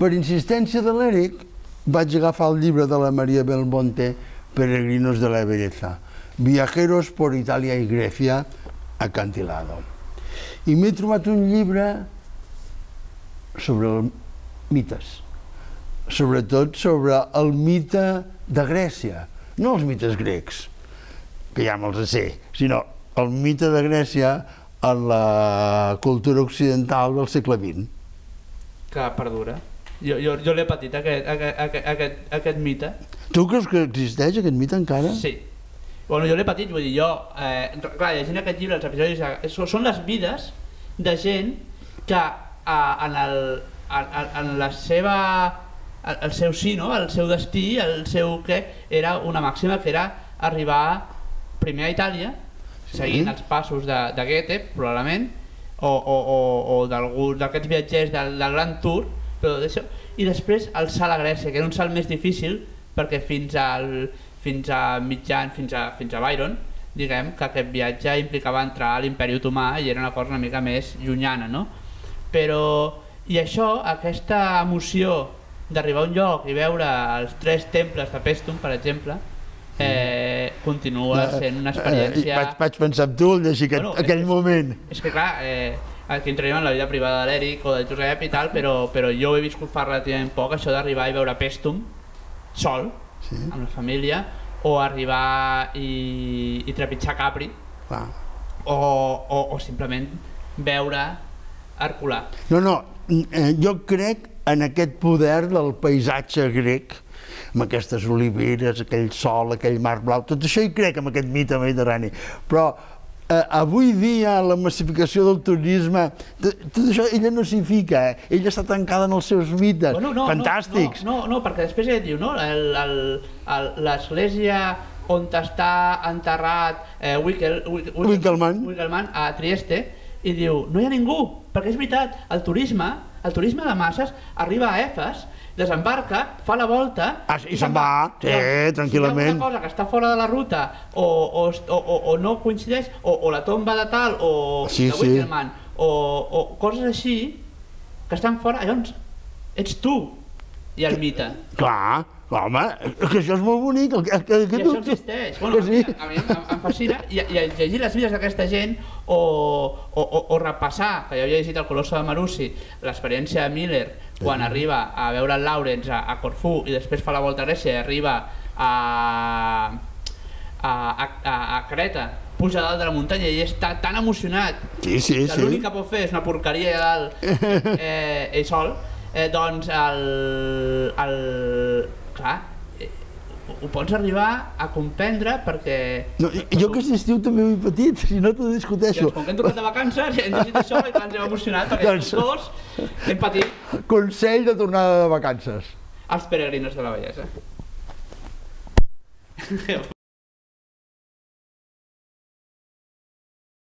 Per insistència de l'Eric, vaig agafar el llibre de la María Belmonte, Peregrinos de la Belleza, Viajeros por Italia y Grecia, acantilado. I m'he trobat un llibre sobre mites, sobretot sobre el mite de Grècia, no els mites grecs, que ja me'ls sé, sinó el mite de Grècia en la cultura occidental del segle XX. Que perdura. Jo l'he patit, aquest mite. Tu creus que existeix aquest mite encara? Sí. Bueno, jo l'he patit, vull dir, clar, llegint aquest llibre, els episodis, són les vides de gent que en la seva, el seu sí, no? El seu destí, el seu què, era una màxima que era arribar primer a Itàlia, seguint els passos de Goethe, probablement, o d'algun d'aquests viatgers del Gran Tour, i després el salt a Grècia, que era un salt més difícil perquè fins a Byron, diguem que aquest viatge implicava entrar a l'Imperi Otomà i era una cosa una mica més llunyana, no? Però, i això, aquesta emoció d'arribar a un lloc i veure els 3 temples de Pèstum, per exemple, continua sent una experiència... Vaig pensar en tu al llegir aquell moment. És que clar, aquí entraríem en la vida privada de l'Eric o del Josep i tal, però jo he viscut fa relativament poc això d'arribar i veure Pèstum sol, amb la família, o arribar i trepitjar Capri, o simplement veure Herculà. No, jo crec en aquest poder del paisatge grec, amb aquestes oliveres, aquell sol, aquell mar blau, tot això hi crec, amb aquest mite mediterrani, però avui dia la massificació del turisme, tot això ella no s'hi fica, ella està tancada en els seus mites, fantàstics. No, perquè després ella diu, no, l'església on està enterrat Winckelmann a Trieste, i diu, no hi ha ningú, perquè és veritat, el turisme de masses arriba a Efes, desembarca, fa la volta i se'n va, tranquil·lament. Si hi ha una cosa que està fora de la ruta o no coincideix, o la tomba de tal, o de Winckelmann, o coses així que estan fora, llavors ets tu i el mite. Clar, home, que això és molt bonic. I això existeix. A mi em fascina, i llegir les vides d'aquesta gent o repassar, que jo havia llegit el Colosso de Marussi, l'experiència de Miller quan arriba a veure el Lawrence a Corfú i després fa la volta a Grècia i arriba a Creta, puja dalt de la muntanya i està tan emocionat que l'únic que pot fer és una porqueria a dalt ell sol, doncs clar, ho pots arribar a comprendre perquè... Jo aquest estiu també ho he patit, si no t'ho discuteixo. Com que hem tocat de vacances, hem llegit això i ens hem emocionat perquè els dos hem patit. Consell de tornada de vacances. Els peregrinos de la bellesa.